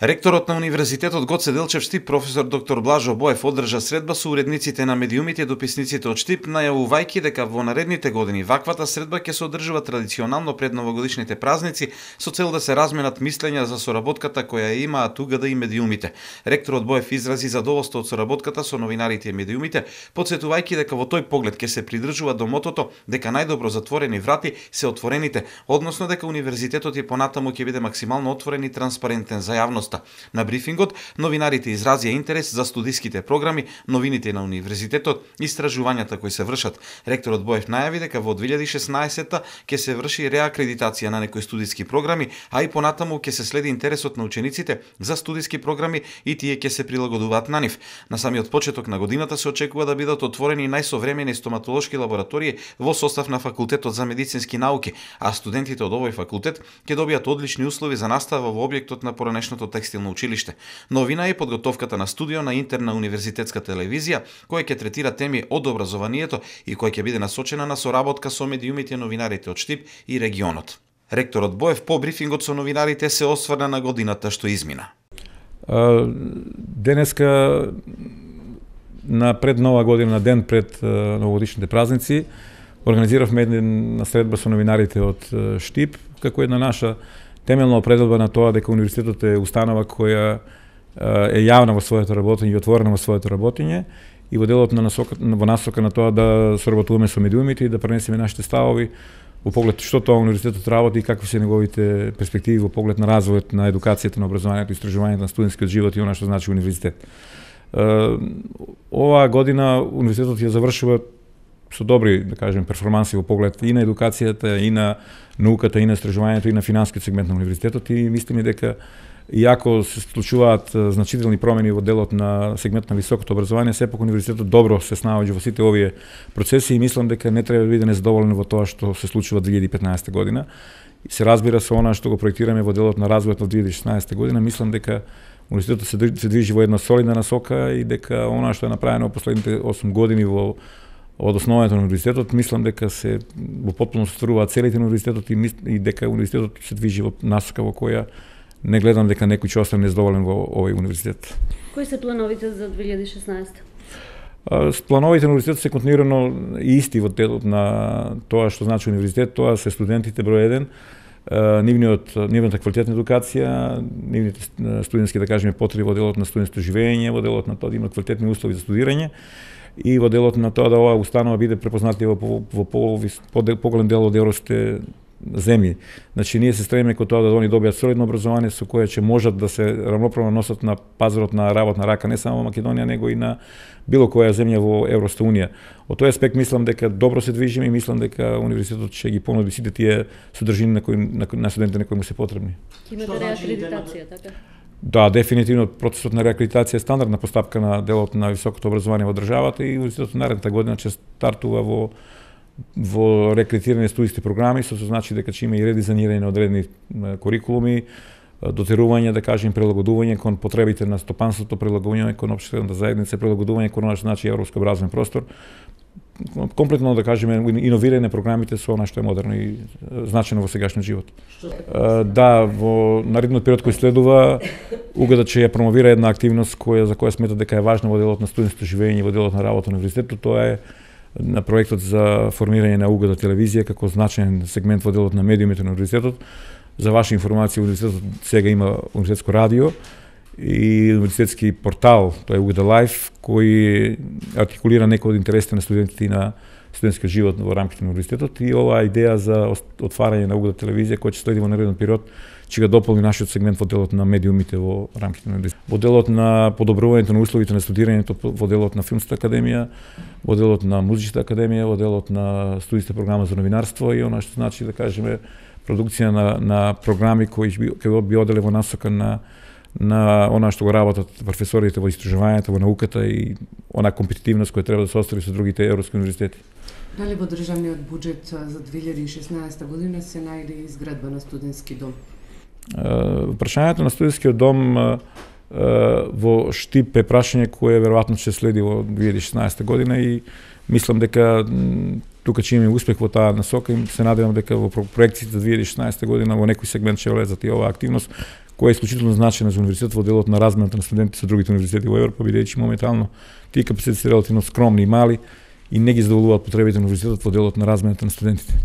Ректорот на Универзитетот Гоце Делчев Штип, професор доктор Блажо Боев, одржа средба со уредниците на медиумите и дописниците од Штип, најавувајќи дека во наредните години ваквата средба ќе се одржува традиционално пред новогодишните празници со цел да се разменат мислења за соработката која имаат УГД и медиумите. Ректорот Боев изрази задоволство од соработката со новинарите и медиумите, потсетувајќи дека во тој поглед ќе се придржува до мотото дека најдобро затворени врати се отворените, односно дека универзитетот и понатаму ќе биде максимално отворен и транспарентен за јавноста. На брифингот, новинарите изразија интерес за студиските програми, новините на универзитетот, истражувањата кои се вршат. Ректорот Боев најави дека во 2016 ќе се врши реакредитација на некои студиски програми, а и понатаму ќе се следи интересот на учениците за студиски програми и тие ќе се прилагодуваат на нив. На самиот почеток на годината се очекува да бидат отворени најсовремени стоматолошки лаборатории во состав на Факултетот за медицински науки, а студентите од овој факултет ќе добијат одлични услови за настава во објектот на поранешното текстилно училиште. Новина е подготовката на студио на интерна универзитетска телевизија, која ќе третира теми од образованието и која ќе биде насочена на соработка со медиумите и новинарите од Штип и регионот. Ректорот Боев по брифингот со новинарите се осврна на годината што измина. Денеска на пред Нова година, на ден пред новогодишните празници, организиравме една средба со новинарите од Штип, како една наша темелна определба на тоа дека универзитетот е установа која е јавна во своето работење и отворена во своето работење и во делот на насока на тоа да соработуваме со медиумите и да пренесеме нашите ставови во поглед што тоа универзитетот работи и какви се неговите перспективи во поглед на развојот на едукацијата, на образованието и истражувањето на студентскиот живот и она што значи универзитет. Оваа година универзитетот ја завршува со добри, да кажем, перформанси во поглед и на едукацијата, и на науката, и на истражувањето, и на финансискиот сегмент на универзитетот и мислиме дека иако се случуваат значителни промени во делот на сегмент на високото образование, сепак универзитетот добро се снаоѓа во сите овие процеси и мислам дека не треба да биде незадоволен во тоа што се случува 2015 година. И се разбира со она што го проектираме во делот на развојот во 2016 година, мислам дека универзитетот се движи во една солидна насока и дека она што е направено во последните 8 години од основањето на универзитетот, мислам дека се во потполно состваруваат целите на универзитетот и дека универзитетот се движи во насока во која не гледам дека некој ќе остане незадоволен во овој универзитет. Кои се плановите за 2016? Плановите на универзитетот се континуирано и исти во делот на тоа што значи универзитет, тоа се студентите број 1, нивната квалитетна едукација, нивните студентски, да кажеме, потреби во делот на студентско живење, во делот на тоа да имат квалитетни услови за студирање и во делот на тоа да оваа установа биде препознатлива во поголем дел од европските земји. Значи, ние се стремиме кон тоа да они добијат солидно образование со кое ќе можат да се рамноправно носат на пазарот на работна рака не само во Македонија, него и на било која земја во Европската унија. Од тој аспект мислам дека добро се движиме и мислам дека универзитетот ќе ги понуди сите тие содржини на студентите на кои му се потребни. Имате реакредитација, така? Да, дефинитивно процесот на реакредитација е стандардна постапка на делот на високото образование во државата и универзитетот наредната година ќе стартува во рекретирање студиски програми, што значи дека ќе има и редизајнирање на одредени курикулуми, дотерување, да кажем, прилагодување кон потребите на стопанството, прилагодување кон општествената заедница, прилагодување кон она што значи европски образовен простор. Комплетно, да кажеме, иновирање програмите со она што е модерно и значено во сегашниот живот. Да, во наредниот период кој следува, УГД ќе ја промовира една активност за која смета дека е важна во делот на студентско живење и во делот на работа на универзитетот, тоа е на проектот за формирање на УГД телевизија како значаен сегмент во делот на медиумите на универзитетот. За ваша информација, универзитетот сега има универзитетско радио и универзитетски портал, тоа е УГД Лайф, кој артикулира некои од интересите на студентите и на студентскиот живот во рамките на универзитетот и оваа идеја за отварање на УГД телевизија која ќе следи во нареден период ќе го дополни нашиот сегмент во делот на медиумите во рамките на универзитетот. Во делот на подобрувањето на условите на студирањето, во делот на филмската академија, во делот на музичката академија, во делот на студиска програма за новинарство и она што значи, да кажеме, продукција на програми кои ќе би оделе во насока на она што го работат професорите во истражувањето, во науката и она компетитивност која треба да се остvari со другите европски универзитети. Дали во државниот буџет за 2016 година се најде изградба на студентски дом? Прашањето на студентскиот дом во Штип е прашање кое веројатно ќе следи во 2016 година и мислам дека тука че имаме успех во таа насока и се надевам дека во проекциите за 2016 година во некој сегмент ќе влезат и оваа активност која е исклучително значајна за универзитетот во делот на размената на студенти со другите универзитети во Европа, бидејќи моментално тие капацитети се релативно скромни и мали и не ги задоволуваат потребите на универзитетот во делот на размената на студентите.